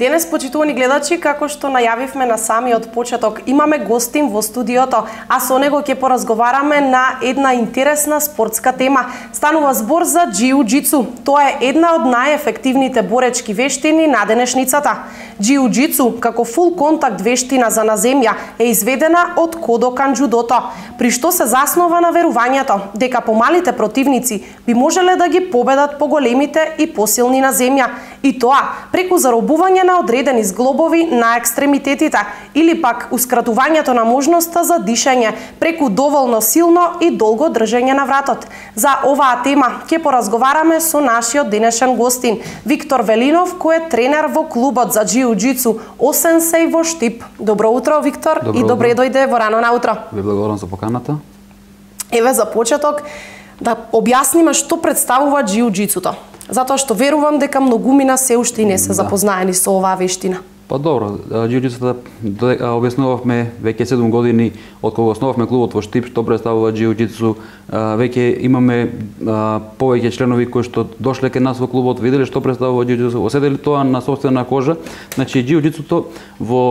Денес, почитувани гледачи, како што најавивме на самиот почеток, имаме гостин во студиото, а со него ќе поразговараме на една интересна спортска тема. Станува збор за џиу-џицу. Тоа е една од најефективните боречки вештини на денешницата. Џиу-џицу, како фул контакт вештина за на земја, е изведена од Кодокан џудото, при што се заснова на верувањето дека помалите противници би можеле да ги победат поголемите и посилни на земја, и тоа преку заробување на одредени зглобови на екстремитетите или пак ускратувањето на можноста за дишење преку доволно силно и долго држење на вратот. За оваа тема ќе поразговараме со нашиот денешен гостин Виктор Велинов, кој е тренер во клубот за џиу-џицу Осенсеј во Штип. Добро утро, Виктор, и добре дојде во рано наутро. Ви благодарам за поканата. Еве за почеток да објасниме што представува џиу-џицуто. Затоа што верувам дека многумина се уште и не се запознаени со оваа вештина. Па добро, џиу-џицуто објаснувавме веќе 7 години од кога основавме клубот во Штип, што представува џиу-џицу. Веќе имаме повеќе членови кои што дошле кај нас во клубот, виделе што представува џиу-џицу, оседели тоа на сопствена кожа. Значи џиу-џицуто во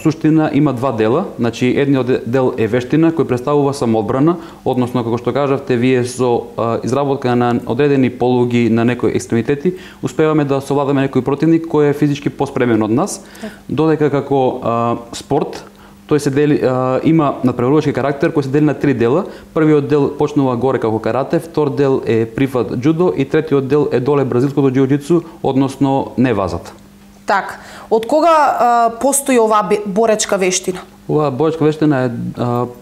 суштина има два дела. Значи едниот дел е вештина кој представува самоодбрана, односно како што кажавте вие со изработка на одредени полуги на некои екстремитети успеваме да совладаме некој противник кој е физички поспремен од нас. Додека како спорт тој се дели, има надпреварувачки карактер кој се дели на три дела. Првиот дел почнува горе како карате, втор дел е прифат џудо и третиот дел е доле бразилското џиу-џицу, односно невазата. Так, од кога постои оваа боречка вештина? Оваа боречка вештина е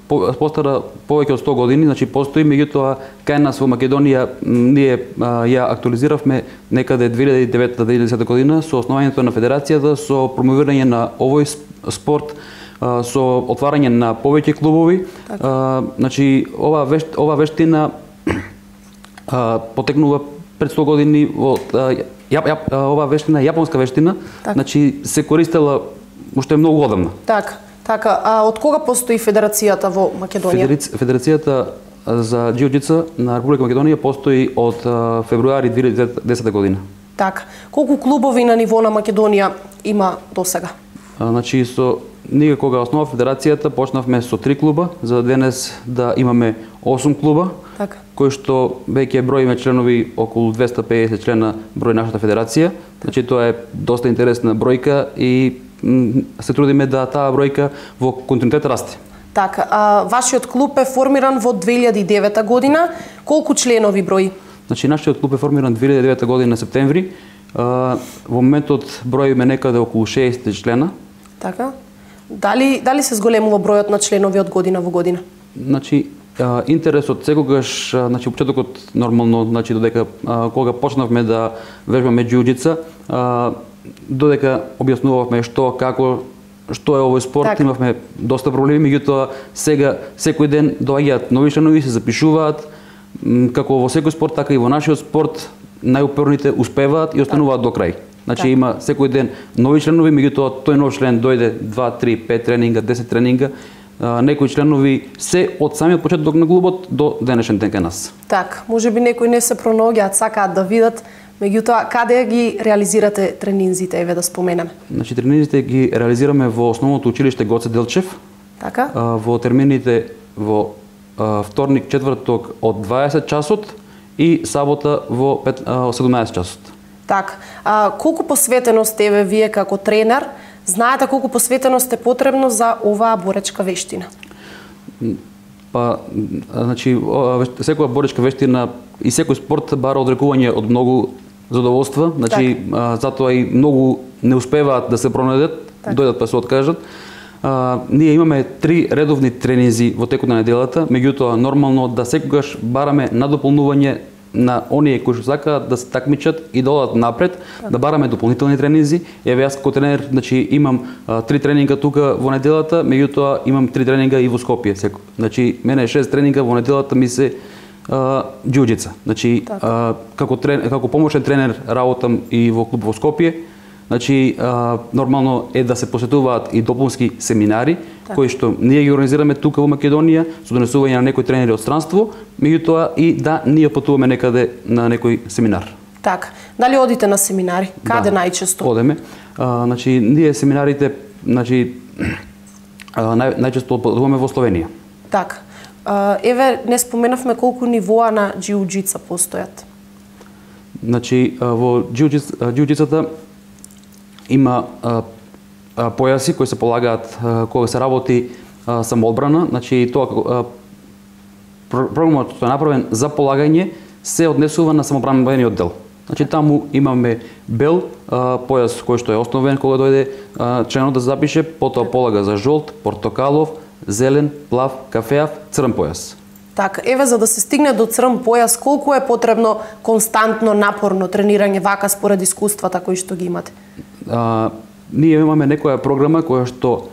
постара повеќе од 100 години, значи постои, меѓутоа кај нас во Македонија ние ја актуализиравме некаде 2009-2010 година со основањето на федерацијата, со промовирање на овој спорт, со отварање на повеќе клубови. Значи ова вештина потекнува пред 100 години од ова вештина, јапонска вештина, значи се користела уште многу одамна. Така, а од кога постои федерацијата во Македонија? Федерацијата за џиу-џицу на Република Македонија постои од февруари 2010 година. Така, колку клубови на ниво на Македонија има досега? Значи ние кога основа федерацијата почнавме со 3 клуба, за денес да имаме 8 клуба, кои што веќе броиме членови околу 250 члена број нашата федерација. Значи тоа е доста интересна бројка и се трудиме да таа бројка во континуитет расте. Така, вашиот клуб е формиран во 2009 година. Колку членови брои? Значи нашиот клуб е формиран 2009 година септември. Во моментот броиме некаде околу 60 члена. Така. Дали се зголемува бројот на членови од година во година? Значи интересот секогаш, значи почетокот нормално, значи додека кога почнавме да вежбаме џиу-џица, додека објаснувавме што, како, што е овој спорт, имавме доста проблеми, меѓутоа сега секој ден доаѓаат нови членови, се запишуваат, како во секој спорт, така и во нашиот спорт, најупорните успеваат и остануваат до крај. Значи има секој ден нови членови, меѓутоа тој нов член дојде 2, 3, 5 тренинга, 10 тренинга, некои членови се од самиот почеток на клубот до денешен ден кај нас. Так, можеби некои не се пронаоѓаат, сакаат да видат, меѓутоа каде ги реализирате тренинзите, еве да споменеме? Значи тренинзите ги реализираме во основното училиште Гоце Делчев. Така? Во термините во вторник, четврток од 20 часот и сабота во 17 часот. Так, колку посветеност еве вие како тренер, знаете колку посветеност е потребно за оваа боречка вештина? Па, значи, секоја боречка вештина и секој спорт бара одрекување од многу задоволства, значи, затоа и многу не успеваат да се пронајдат, дојдат па се откажат. Ние имаме 3 редовни тренинзи во текот на неделата, меѓутоа нормално да секогаш бараме надополнување на оние кои што сакаат да се такмичат и да одат напред, да бараме дополнителни тренинзи. Еве јас како тренер, значи имам 3 тренинга тука во неделата, меѓутоа имам 3 тренинга и во Скопје. Значи мене 6 тренинга во неделата ми се џиу-џица. Значи како помошен тренер работам и во клуб во Скопје. Значи нормално е да се посетуваат и дополнски семинари кои што ние ги организираме тука во Македонија со донесување на некои тренери од странство, меѓутоа и да ние патуваме некаде на некој семинар. Така. Дали одите на семинари? Каде најчесто? Одеме. Значи ние семинарите, значи најчесто одборуваме во Словенија. Така. Еве, не споменавме колку нивоа на џиу-џица постојат. Значи во џиу-џицата има појаси кои се полагаат кога се работи самоодбрана, значи тоа програмот што е направен за полагање се однесува на самоодбранбениот дел. Значи таму имаме бел појас кој што е основен кога дојде членот да запише, потоа полага за жолт, портокалов, зелен, плав, кафеав, црн појас. Така, еве за да се стигне до црн појас, колку е потребно константно напорно тренирање вака според искуствата кои што ги имате? Ние имаме некоја програма која што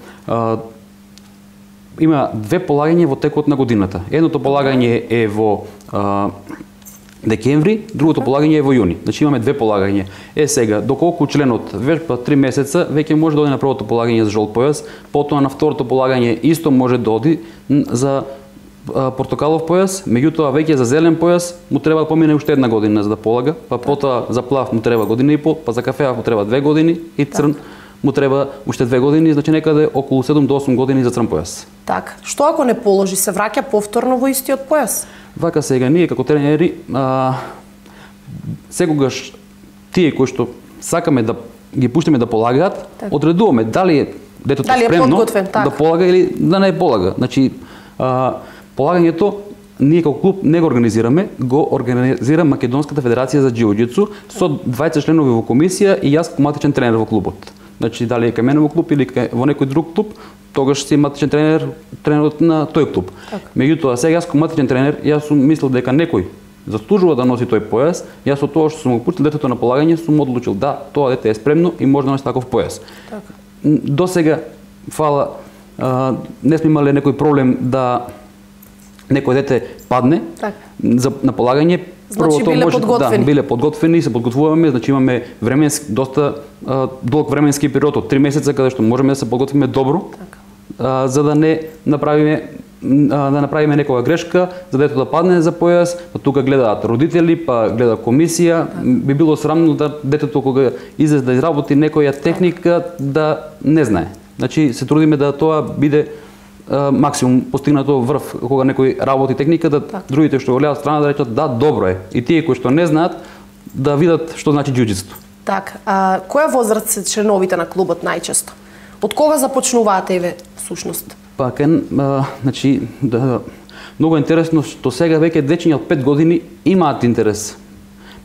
има две полагања во текот на годината. Едното полагање е во декември, другото полагање е во јуни. Значи имаме две полагања. Сега, доколку членот вежба 3 месеца, веќе може да оди на првото полагање за жолт појас, потоа на второто полагање исто може да оди за портокалов појас, меѓутоа веќе за зелен појас му треба да помине уште една година за да полага, па потоа за плав му треба година и пол, па за кафеав му треба 2 години и црн му треба уште 2 години, значи некаде околу 7 до 8 години за црн појас. Така, што ако не положи, се враќа повторно во истиот појас? Вака сега ние како тренери секогаш тие кои што сакаме да ги пуштиме да полагаат, одредуваме дали детето спремно да полага или да не полага. Значи полагањето ние како клуб не го организира Македонската федерација за џиу-џицу со 20 членови во комисија и јас како матичен тренер во клубот. Значи дали е кај мене во клуб или во некој друг клуб, тогаш си матичен тренерот на тој клуб. Меѓутоа сега јас како матичен тренер, јас сум мислил дека некој заслужува да носи тој појас, јас со тоа што сум го пуштил детето на полагање сум одлучил да, тоа дете е спремно и може да носи таков појас. До сега, фала, не сме имале некој проблем да некој дете падне на полагање. Значи биле подготвени. Да, биле подготвени, се подготвуваме, значи имаме доста долг временски период од 3 месеца каде што можеме да се подготвиме добро, за да не направиме некоја грешка, за детето да падне за појас, па тука гледаат родители, па гледа комисија. Би било срамно да детето кога излезе да изработи некоја техника да не знае. Значи се трудиме да тоа биде максимум постигнато врв кога некој работи техника, да другите што го гледаат страна да речат да, добро е. И тие кои што не знаат да видат што значи џиу-џицето. Така, која возраст се членовите на клубот најчесто? Од кога започнуваат еве всушност? Па значи многу интересно што сега веќе дечиња од 5 години имаат интерес.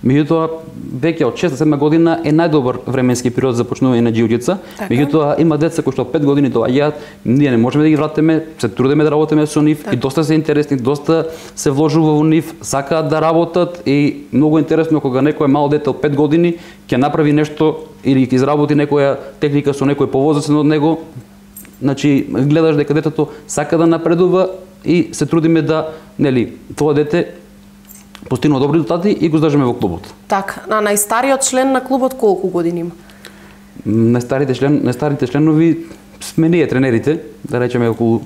Меѓутоа веќе од 6-7 година е најдобар временски период за почнување на џиу-џица. Меѓутоа има деца кои што од 5 години доаѓаат, ние не можеме да ги вратиме, се трудиме да работиме со нив и доста се интересни, доста се вложува во нив, сакаат да работат и многу интересно кога некој мало дете од 5 години ќе направи нешто или ќе изработи некоја техника со некој повозрастен од него. Значи гледаш дека детето сака да напредува и се трудиме да, нели, тоа дете постигнува добри резултати и го здржаме во клубот. Така, а најстариот член на клубот колку години има? Најстарите членови сме ние тренерите, да речеме околу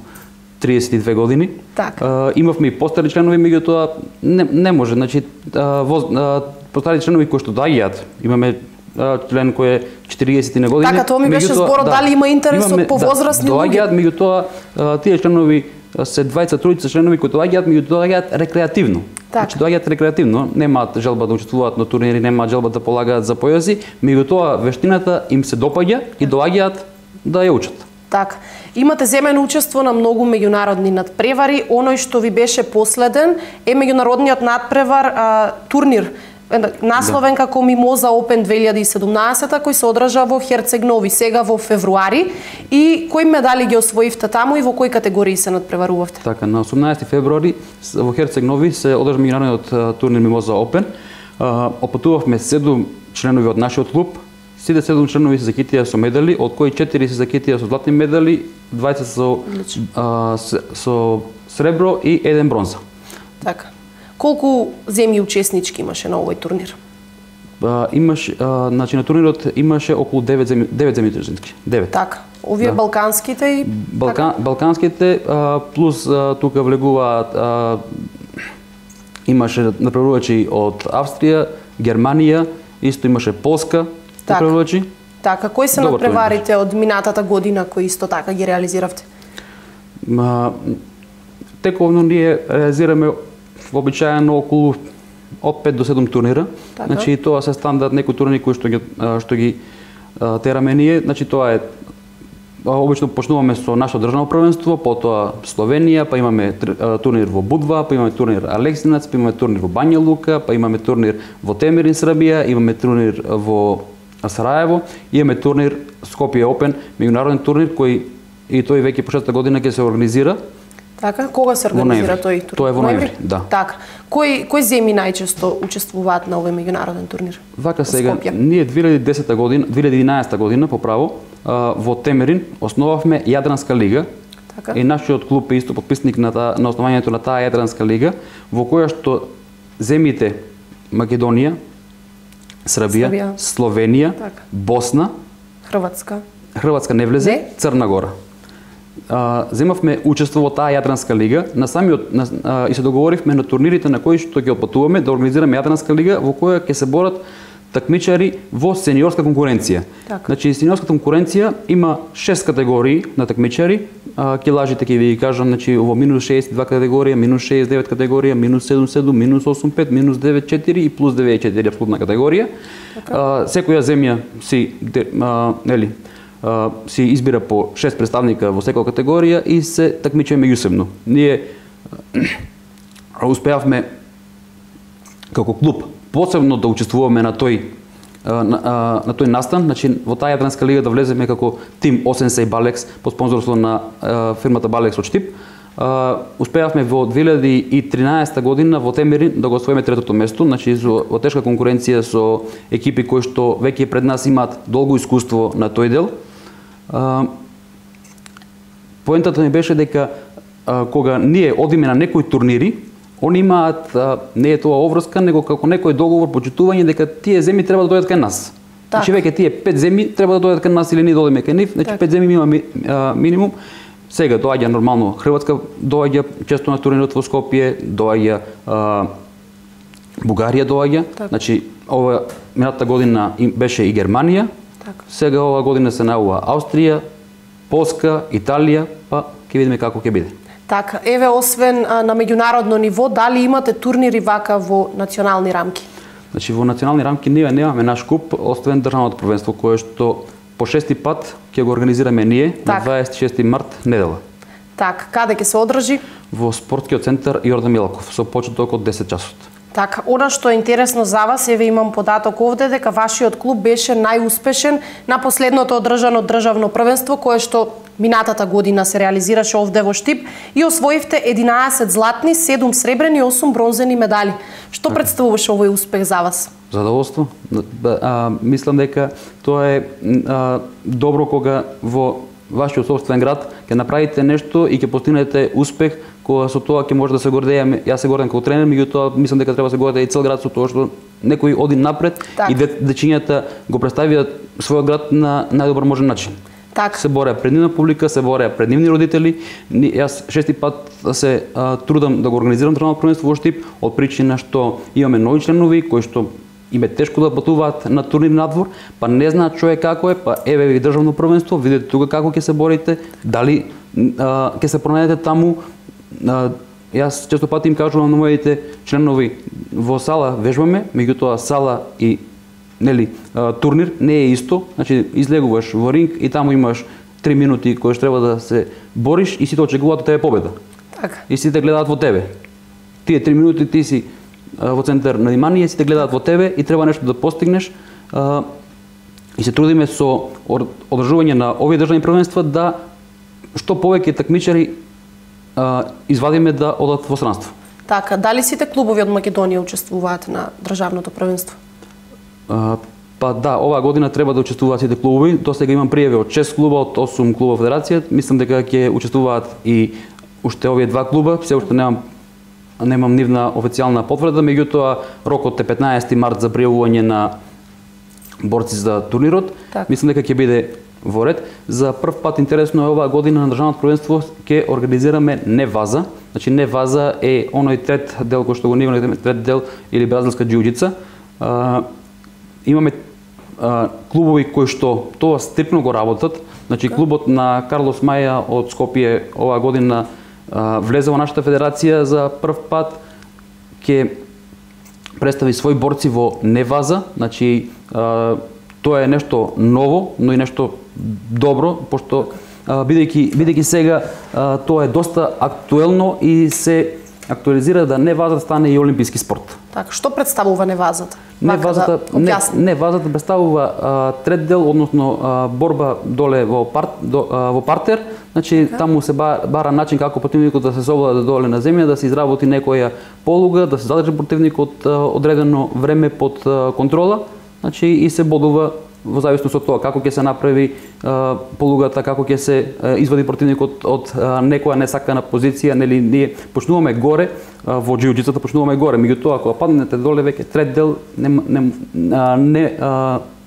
32 години. Така. Имавме и постари членови, меѓутоа не може, значи постари членови кои што доаѓаат, имаме член кој е 40 на години. Така, тоа ми беше зборот, дали има интерес од повозрастни луѓе? Доаѓаат, меѓутоа тие членови се 20-30 членови кои доаѓаат, меѓутоа доаѓаат рекреативно. Значи доаѓаат рекреативно, немаат желба да учествуваат на турнири, немаат желба да полагаат за појаси, меѓутоа вештината им се допаѓа и доаѓаат да ја учат. Така. Имате земено учество на многу меѓународни надпревари. Оној што ви беше последен е меѓународниот надпревар турнир насловен како Мимоза Open 2017, кој се одржа во Херцег Нови сега во февруари. И кои медали ги освоивте таму и во кои категории се надпреварувавте? Така, на 18 февруари во Херцег Нови се одржа меѓународниот турнир Мимоза Open. Опатувавме 7 членови од нашиот клуб. Сите 7 членови се закитија со медали, од кои 4 се закитија со златни медали, 20 со сребро и 1 бронза. Така. Колку земји учеснички имаше на овој турнир? Значи на турнирот имаше околу 9 земји учеснички. 9. Така. Овие балканските и балканските плюс тука влегуваат имаше направувачи од Австрија, Германија, исто имаше Полска направувачи. Така, кои се надпреварите од минатата година кои исто така ги реализиравте? Тековно ние реализираме вообичаено околу од 5 до 7 турнира. Така. Значи тоа се стандард некои турнири кои што ги тераме ние. Значи тоа е обично почнуваме со нашето државно првенство, потоа Словенија, па имаме турнир во Будва, па имаме турнир Алексинац, па имаме турнир во Бања Лука, па имаме турнир во Темерин, Србија, имаме турнир во Сараево, имаме турнир Скопје Опен, меѓународен турнир кој и тој веќе по 6-та година ќе се организира. Така, кога се организира тој турнир? Тоа е во ноември, да. Така. Кои земји најчесто учествуваат на овој меѓународен турнир? Вака сега, ние 2011 година поправо во Темерин основавме Јадранска лига. Така. И нашиот клуб е исто подписник на основањето на таа Јадранска лига, во која што земјите Македонија, Србија, Словенија, така. Босна, Хрватска не влезе, Црна Гора. Земавме учество во таа Јадранска лига, и се договоривме на турнирите на кои што ќе отпатуваме да организираме Јадранска лига во која ќе се борат такмичари во сениорска конкуренција. Так. Значи сениорска конкуренција има 6 категории на такмичари, килажите ќе ви кажам, значи во минус 62 категорија, минус 69 категорија, минус 77, минус 85, минус 94 и плюс 94 апсолутна категорија. Така. Секоја земја си избира по 6 представника во секоја категорија и се такмичиме меѓусебно. Ние успеавме како клуб посебно да учествуваме на тој настан, значи во таа Јадранска лига да влеземе како тим Осенсеј Балекс под спонзорство на фирмата Балекс од Штип. Успеавме во 2013 година во Темерин да го освоиме третото место, значи во тешка конкуренција со екипи кои што веќе пред нас имаат долго искуство на тој дел. Поентата ми беше дека кога ние одиме на некои турнири, они имаат, не е тоа обврска, него како некој договор, почитување дека тие земји треба да дојдат кај нас. Так. Значи веќе тие 5 земји треба да дојдат кај нас или ние дојдеме кај нив, значи 5 земји има минимум. Сега доаѓа нормално Хрватска, доаѓа често на турнирот во Скопје, доаѓа Бугарија доаѓа. Так. Значи ова минатата година беше и Германија. Так. Сега ова година се најава Австрија, Полска, Италија, па ќе видиме како ќе биде. Така, еве освен на меѓународно ниво, дали имате турнири вака во национални рамки? Значи во национални рамки ние немаме наш куп, освен државното првенство кое што по 6-ти пат ќе го организираме ние на 26 март недела. Така, каде ќе се одржи? Во спортскиот центар Јордан Милаков со почеток од 10 часот. Така, она што е интересно за вас, еве имам податок овде дека вашиот клуб беше најуспешен на последното одржано државно првенство кое што минатата година се реализираше овде во Штип и освоивте 11 златни, 7 сребрени и 8 бронзени медали. Што представуваше овој успех за вас? Задоволство. Мислам дека тоа е добро кога во вашиот собствен град ќе направите нешто и ќе постигнете успех, кога со тоа ќе може да се гордееме. Јас се гордам како тренер, меѓутоа мислам дека треба да се гордее и цел град со тоа што некој оди напред и дечињата го представиат својот град на најдобар можен начин. Так. Се бореа пред нивна публика, се бореа пред нивни родители. Јас 6-ти пат се трудам да го организирам државно првенство во Штип од причина што имаме нови членови кои што им е тешко да патуваат на турнир надвор, па не знаат човек како е, па еве ви државно првенство, видете тука како ќе се борите, дали ќе се пронајдете таму. Јас често пати им кажувам на моите членови во сала вежбаме, меѓутоа сала и турнир не е исто, значи излегуваш во ринг и таму имаш 3 минути кои што треба да се бориш и сите очекуваат од тебе победа. Така. И сите гледаат во тебе. Тие 3 минути ти си во центар на внимание, сите гледаат во тебе и треба нешто да постигнеш. И се трудиме со одржување на овие државни првенства да што повеќе такмичари извадиме да одат во странство. Така, дали сите клубови од Македонија учествуваат на државното првенство? Па да, оваа година треба да учествуваат сите клубови. До сега имам пријави од 6 клуба, од 8 клуба федерација. Мислам дека ќе учествуваат и уште овие 2 клуба. Се уште немам нивна официјална потврда, меѓутоа рокот е 15 март за пријавување на борци за турнирот. Так. Мислам дека ќе биде во ред. За прв пат интересно е оваа година на државното првенство ќе организираме не ваза. Значи не ваза е оној трет дел кој што го нарекуваме трет дел или бразилска џиу-џица. Имаме клубови кои што тоа стрикно го работат. Значи клубот на Карлос Маја од Скопје оваа година влезе во нашата федерација за прв пат, ќе представи своји борци во Неваза. Значи тоа е нешто ново, но и нешто добро, пошто бидејќи сега тоа е доста актуелно и се актуализира да Неваза стане и олимписки спорт. Така, што представува Невазата? Невазата представува треддел, односно борба доле во партер. Значи таму се бара начин како противникот да се совлада доле на земја, да се изработи некоја полуга, да се задржи противникот одредено време под контрола, значи и се бодува во зависност од тоа како ќе се направи полугата, како ќе се извади противникот од некоја несакана позиција, нели ние почнуваме горе во џиу-џицата, почнуваме горе, меѓутоа кога паднете доле веќе треддел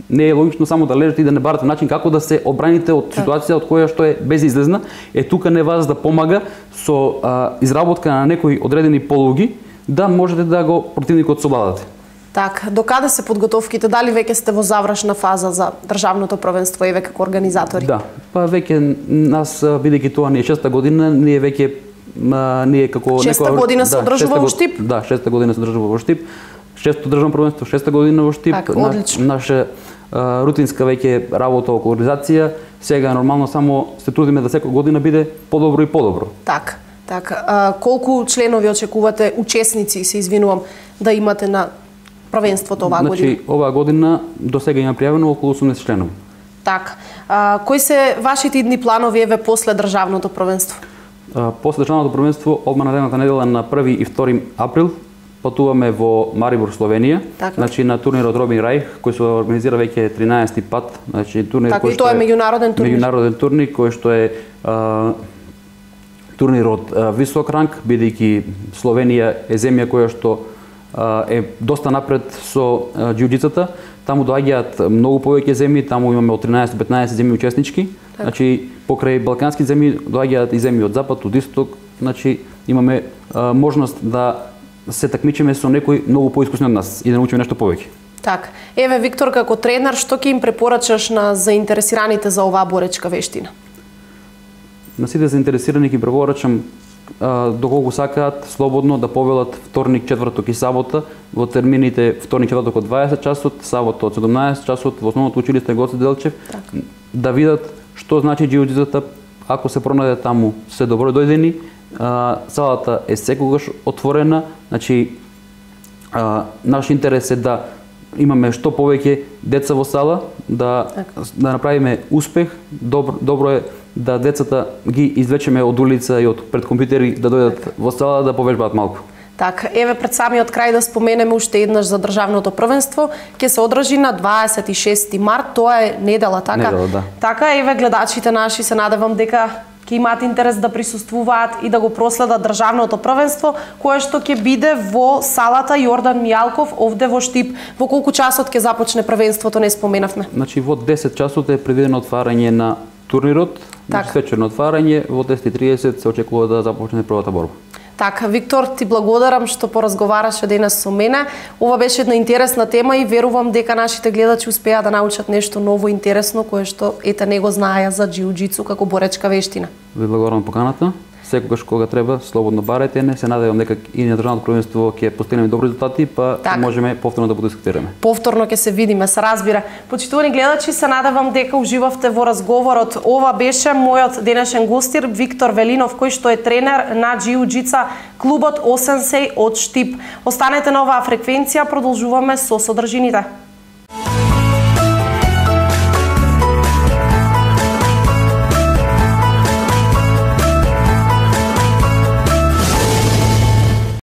не е логично само да лежите и да не барате начин како да се обраните од ситуација од која што е безизлезна. Тука Неваза да помага со изработка на некои одредени полуги да можете да го противникот совладате. Така, докаде се подготовките? Дали веќе сте во завршна фаза за државното првенство и веќе како организатори? Да, па веќе нас, бидејќи тоа не е 6-та година, ние веќе како 6-та година се одржува во Штип? Да, 6-та година се одржува во Штип. 6-то државно првенство, 6-та година во Штип. Так, одлично. Наша рутинска веќе работа околу организација. Сега нормално само се трудиме да секоја година биде подобро и подобро. Така. Колку членови очекувате, учесници, се извинувам, да имате на првенството оваа година? Значи, оваа година до сега има пријавено околу 80 членови. Така. Кои се вашите идни планови еве после државното првенство? После државното првенство, одма наредната недела на 1 и 2 април, патуваме во Марибор, Словенија. Така. Значи на турнирот Робин Рајх, кој се организира веќе 13-ти пат. Значи турнир така, кој што е меѓународен турнир. Меѓународен турнир кој што е турнир од висок ранг, бидејќи Словенија е земја која што е доста напред со џиу-џицата. Таму доаѓаат многу повеќе земји, таму имаме од 13 до 15 земји учеснички. Так. Значи покрај балкански земји доаѓаат и земји од запад, од исток. Значи имаме можност да се такмичиме со некои многу поискусни од нас и да научиме нешто повеќе. Так. Еве Виктор, како тренер, што ќе им препорачаш на заинтересираните за оваа боречка вештина? На сите заинтересирани ќе препорачам доколку сакаат слободно да повелат вторник, четврток и сабота во термините вторник, четврток од 20 часот, сабота од 17 часот во основното училиште Гоце Делчев, так. Да видат што значи џиу-џицата, ако се пронајде таму, се добро дојдени. Салата е секогаш отворена, значи наш интерес е да имаме што повеќе деца во сала, да направиме успех. Добро е да децата ги извлечеме од улица и од пред компјутери да дојдат во сала да повежбаат малку. Така, еве пред самиот крај да споменеме уште еднаш за државното првенство, ќе се одржи на 26 март, тоа е недела, така? Недела, да. Така, еве гледачите наши, се надевам дека ќе имаат интерес да присуствуваат и да го проследат државното првенство, кое што ќе биде во салата Јордан Мијалков овде во Штип. Во колку часот ќе започне првенството, не споменавме? Значи во 10 часот е предвидено отварање на турнирот, значи свечерно отварање, во 10:30 се очекува да започне првата борба. Така, Виктор, ти благодарам што поразговараше денес со мене. Ова беше една интересна тема и верувам дека нашите гледачи успеа да научат нешто ново интересно кое што ете не го знаеа за џиу-џицу како боречка вештина. Ви благодарам поканата. Секогаш кога треба, слободно барете не. Се надевам дека и на државното првенство ќе постигнеме добри резултати, па можеме повторно да подискутираме. Повторно ќе се видиме, се разбира. Почитувани гледачи, се надевам дека уживавте во разговорот. Ова беше мојот денешен гостир Виктор Велинов, кој што е тренер на џиу-џица клубот Осенсеј од Штип. Останете на оваа фреквенција, продолжуваме со содржините.